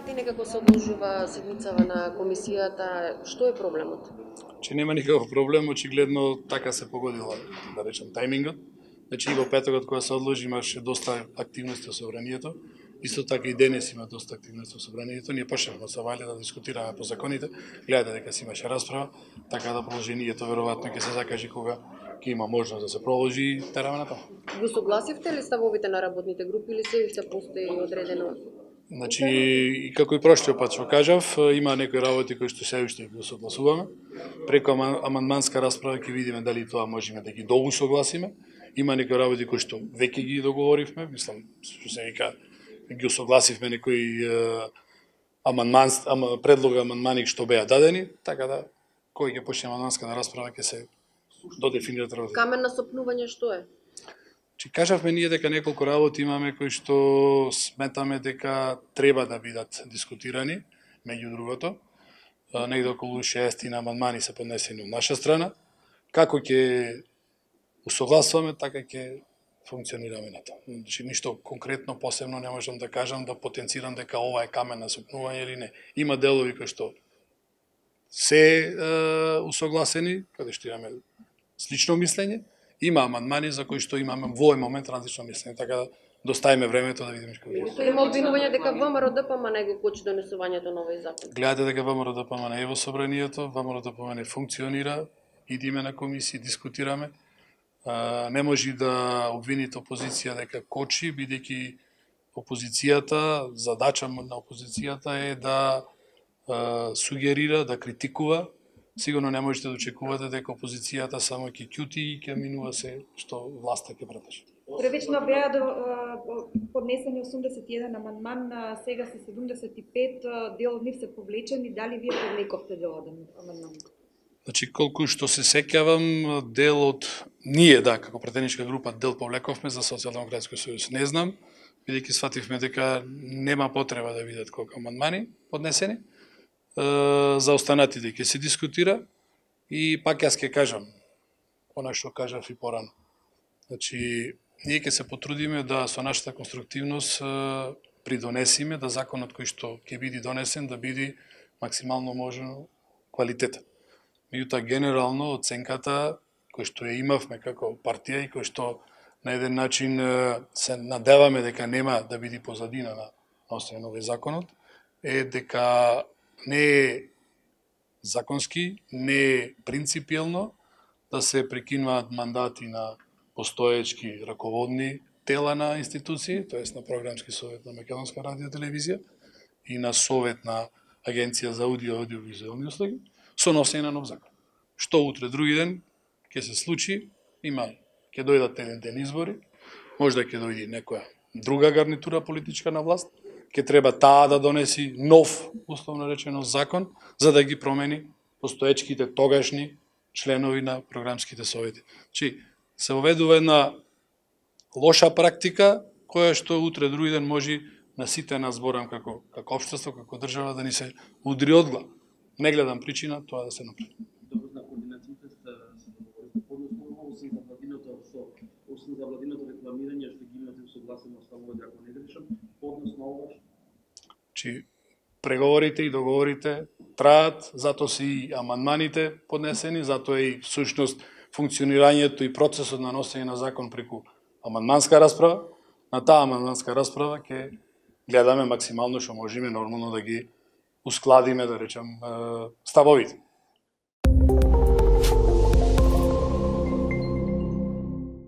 пати некако се одложува седмицава на комисијата. Што е проблемот? Че нема никаков проблем, очигледно така се погодила, да речем, тајмингот. Значи и во петокот кога се одложи имаше доста активности во собранието. Исто така и денес има доста активности во собранието. Ние почнавме со Валја да дискутираме по законите. Гледате дека си имаше расправа, така да продолжението веројатно ќе се закаже кога ќе има можност да се продолжи и тераме натаму. Го согласивте ли ставовите на работните групи или се уште постои одредено? Значи, и како и прошлиот пат што кажав, има некои работи кои што се уште ги согласуваме. Преку амандманска расправа ќе видиме дали тоа можеме да ги доусогласиме. Има некои работи кои што веќе ги договоривме, мислам, што се вика, ги согласивме некои предлога амандмани што беа дадени, така да кој ќе почне амандманската расправа ќе се додефинират работи. Камен на сопнување што е? Че кажавме ние дека неколку работи имаме кои што сметаме дека треба да бидат дискутирани, меѓу другото. Негде околу 60 амандмани се поднесени од наша страна. Како ќе усогласуваме, така ќе функционираме на тоа. Значи, ништо конкретно посебно не можам да кажам, да потенцирам дека ова е камен на сопнување или не. Има делови кои што се усогласени, каде што имаме слично мислење, има амандмани за кои што имаме во овој момент различно мислење, така да доставиме времето да видиме како ќе. Има обвинување дека ВМРО-ДПМН не го кочи донесувањето на овој закон. Гледате дека ВМРО-ДПМН не е во собранието, ВМРО-ДПМН не функционира, идиме на комисија, дискутираме. Не може да обвините опозиција дека кочи, бидејќи опозицијата, задача на опозицијата е да сугерира, да критикува. Сигурно не можете да очекувате дека опозицијата само ќе ќути и ќе минува се што власта ќе предложи. Првично беа поднесени 81 амандман, сега се 75, дел од нив се повлечени. Дали вие повлековте дел од амандманите? Значи, колку што се сеќавам, дел од ние, да, како претеничка група, дел повлековме за Социјалдемократски сојуз. Не знам, бидејќи свативме дека нема потреба да бидат колку амандмани поднесени. За останатите ќе се дискутира и пак јас ќе кажам она што кажав и порано. Значи, ние ќе се потрудиме да со нашата конструктивност придонесиме да законот кој што ќе биде донесен да биде максимално можно квалитетен. Меѓутоа, генерално оценката кој што ја имавме како партија и кој што на еден начин се надеваме дека нема да биде позадина на носење на овој законот, е дека не е законски, не е принципиелно да се прекинуваат мандати на постоечки раководни тела на институции, тоест на Програмски совет на Македонска радио и телевизија и на Совет на Агенција за аудио и аудиовизуелни услуги, со носење на нов закон. Што утре други ден ќе се случи, ќе дојдат еден ден избори, можда ќе дојде некоја друга гарнитура политичка на власт, ќе треба таа да донеси нов, условно речено, закон, за да ги промени постоечките тогашни членови на програмските совети. Значи, се оведува една лоша практика, која што утре други ден може на сите нас, зборам како општество, како држава, да ни се удри од глава. Не гледам причина тоа да се направи. На координациите се договорите подносно, освен за владиното рекламирање што ги имате согласено ставове, ако не грешам, подносно ова. Чи преговорите и договорите траат, затоа се и амандманите поднесени, затоа и всушност функционирањето и процесот на носење на закон преку амандманска расправа. На таа амандманска расправа ќе гледаме максимално што можеме нормално да ги ускладиме, да речем, ставовите.